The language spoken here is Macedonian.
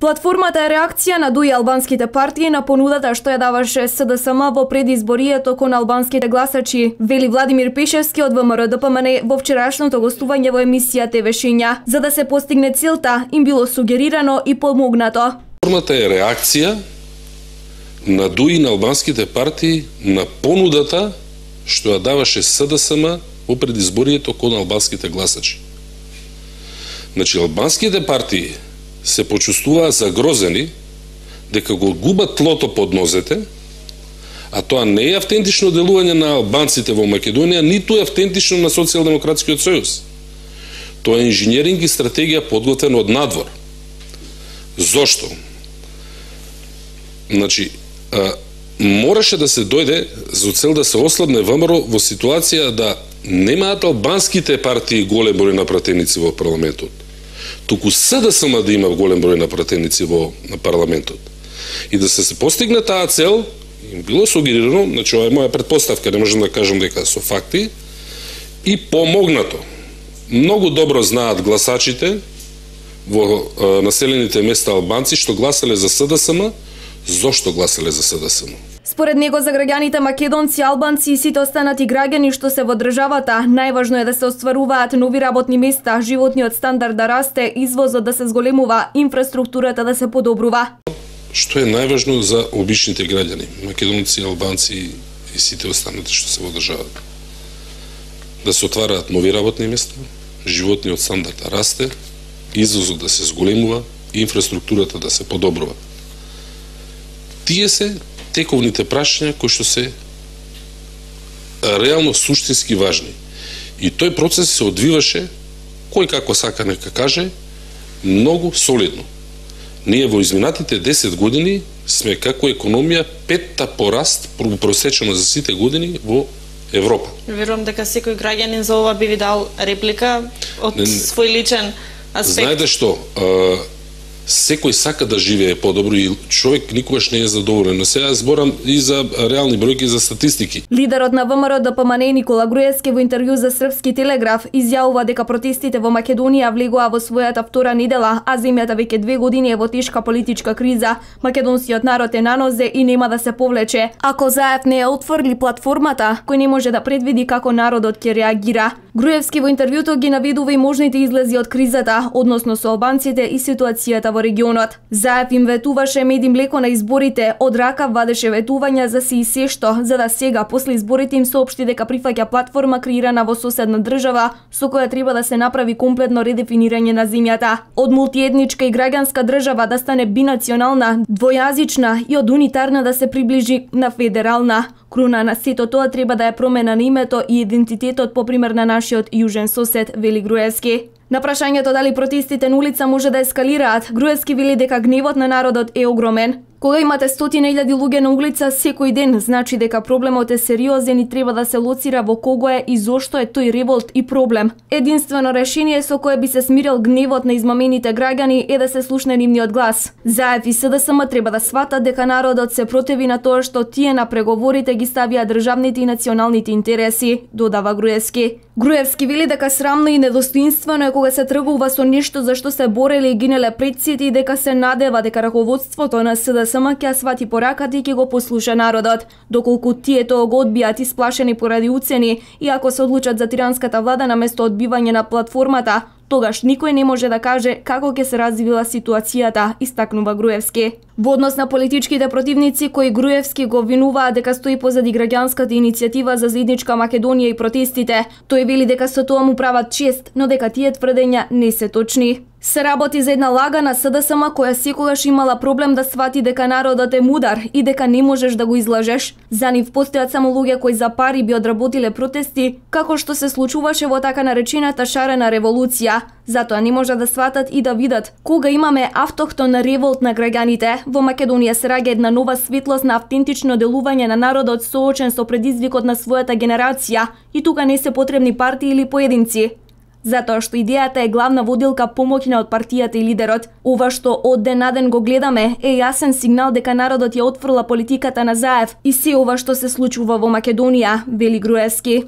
Платформата е реакција на дуи албанските партии на понудата што ја даваше СДСМ во предизборието кон албанските гласачи, вели Владимир Пешевски од ВМРО-ДПМН во вчерашното гостување во емисија ТВ Шења. За да се постигне целта, им било сугерирано и помогнато. Платформата е реакција на дуи на албанските партии на понудата што ја даваше СДСМ во предизборието кон албанските гласачи. Значи, албанските партии се почувствуваа загрозени дека го губат тлото под нозете, а тоа не е автентично делување на албанците во Македонија, ниту е автентично на Социјалдемократскиот сојуз. Тоа е инженеринг и стратегија подготвена од надвор. Зошто? Значи, мораше да се дојде за цел да се ослабне ВМРО во ситуација да немаат албанските партии голем број на пратеници во парламентот, туку СДСМ да има голем број на пратеници во парламентот. И да се постигне таа цел, им било сугерирано, значи ова е моја претпоставка, не можам да кажам дека со факти, и помогнато. Многу добро знаат гласачите во населените места албанци што гласале за СДСМ, зошто гласале за СДСМ. Според него за граѓаните македонци, албанци и сите останати граѓани што се во државата, најважно е да се остваруваат нови работни места, животниот стандард да расте, извозот да се зголемува, инфраструктурата да се подобрува. Што е најважно за обичните граѓани, македонци, албанци и сите останати што се во државата? Да се отвараат нови работни места, животниот стандард да расте, извозот да се зголемува, инфраструктурата да се подобрува. Тие се тековните прашања кои што се реално суштински важни. И тој процес се одвиваше, кој како сака нека каже, многу солидно. Ние во изминатите 10 години сме како економија петта пораст просечено за сите години во Европа. Верувам дека секој граѓанин за ова би ви дал реплика од свој личен аспект. Знаете што, секој сака да живее подобро и човек никогаш не е задоволен. Но сега зборам и за реални бројки, за статистики. Лидерот на ВМРО-ДПМН Никола Груевски во интервју за Српски телеграф изјавува дека протестите во Македонија влегоа во својата втора недела, а земјата веќе 2 години е во тешка политичка криза. Македонскиот народ е на нозе и нема да се повлече. Ако ЗАЕФ не ја отфрли платформата, кој не може да предвиди како народот ќе реагира. Груевски во интервјуто ги наведува и можните излези од кризата, односно со албанците и ситуацијата во регионот. ЗАЕФ им ветуваше мед и млеко на изборите, од рака вадеше ветувања за си и се што, за да сега после изборите им соопшти дека прифаќа платформа креирана во соседна држава, со која треба да се направи комплетно редефинирање на земјата. Од мултиетничка и граѓанска држава да стане бинационална, двојазична и од унитарна да се приближи на федерална. Круна на сето тоа треба да е промена на името и идентитетот по пример на нашиот јужен сосед, вели Груевски. На прашањето дали протестите на улица може да ескалираат, Груевски вели дека гневот на народот е огромен. Кога имате 100.000 луѓе на улица секој ден, значи дека проблемот е сериозен и треба да се лоцира во кого е и зошто е тој револт и проблем. Единствено решение со кое би се смирил гневот на измамените граѓани е да се слушне нивниот глас. ЗАЕФ и СДСМ треба да сватат дека народот се противи на тоа што тие на преговорите ги ставија државните и националните интереси, додава Груевски. Груевски вели дека срамно и недостоинствено е кога се тргува со нешто за што се бореле и гинеле предците и дека се надева дека раководството на СДСМ ќе свати пораката и ќе го послуша народот. Доколку тие тоа го одбијат исплашени поради уцени и ако се одлучат за тиранската влада наместо одбивање на платформата, тогаш никој не може да каже како ќе се развила ситуацијата, истакнува Груевски. Во однос на политичките противници кои Груевски го обвинуваат дека стои позади граѓанската иницијатива за заедничка Македонија и протестите, тој вели дека со тоа му прават чест, но дека тие тврдења не се точни. Се работи за една лага на СДСМ која секогаш имала проблем да свати дека народот е мудар и дека не можеш да го излажеш. За нив постојат само луѓе кои за пари би одработиле протести, како што се случуваше во така наречената шарена револуција. Затоа не може да сватат и да видат кога имаме автохтон револт на граѓаните. Во Македонија се раѓа една нова светлост на автентично делување на народот соочен со предизвикот на својата генерација и тука не се потребни партии или поединци. Затоа што идејата е главна водилка помоќна од партијата и лидерот. Ова што од ден на ден го гледаме е јасен сигнал дека народот ја отфрла политиката на ЗАЕФ и се ова што се случува во Македонија, вели Груевски.